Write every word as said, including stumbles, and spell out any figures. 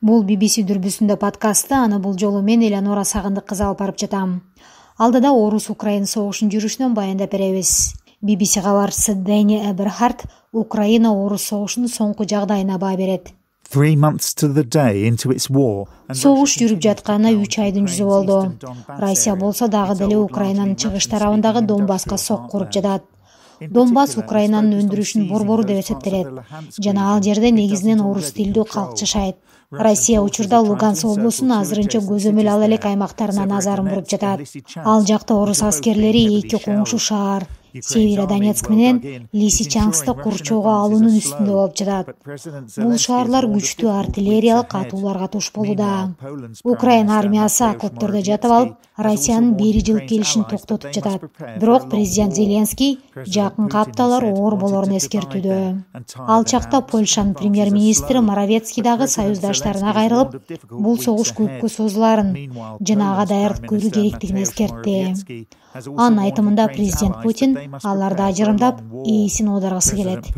Бул би би си дүрбүсүндө подкастты, аны бул жолу мен Элеонора Сагындык кызы алып барып жатам. Алдыда Орус-Украин согушунун жүрүшүнөн баяндап беребиз. би би си кабарчысы Дэни Эберхард Украина-Орус согушунун соңку жагдайына баа берет. Three months to the day into its war. Согуш жүрүп жатканына үч айдын жүзү болду. Россия болсо дагы деле Украинанын чыгыш тарабындагы Донбасска сокку уруп жатат. Донбасс Украинанын өндүрүшүнүн борбору деп эсептелет жана ал жерде негизинен орус тилдүү калк жашайт. Россия учурда Луганск облусунун азырынча көзөмөл ала элек аймактарына назарын буруп жатат. Ал жакта орус аскерлери эки коңшу шаар Северодонецк менен Лисичанскты курчоого алуунун үстүндө болуп жатат. Бул шаарлар күчтүү артиллериялык атууларга туш болууда. Украина армиясы окоптордо жатып алып, Россиянын бери жылкы келишин токтотуп жатат. Бирок президент Зеленский жакынкы апталар оор болорун эскертүүдө. Ал чакта Польшанын премьер-министри Моровецкий дагы союздаштарына кайрылып, бул согуш көпкө созуларын жана ага даярдык көрүү керектигин эскертти. Анын айтымында президент Путин аларды ажырымдап, ээсин оодаргысы келет.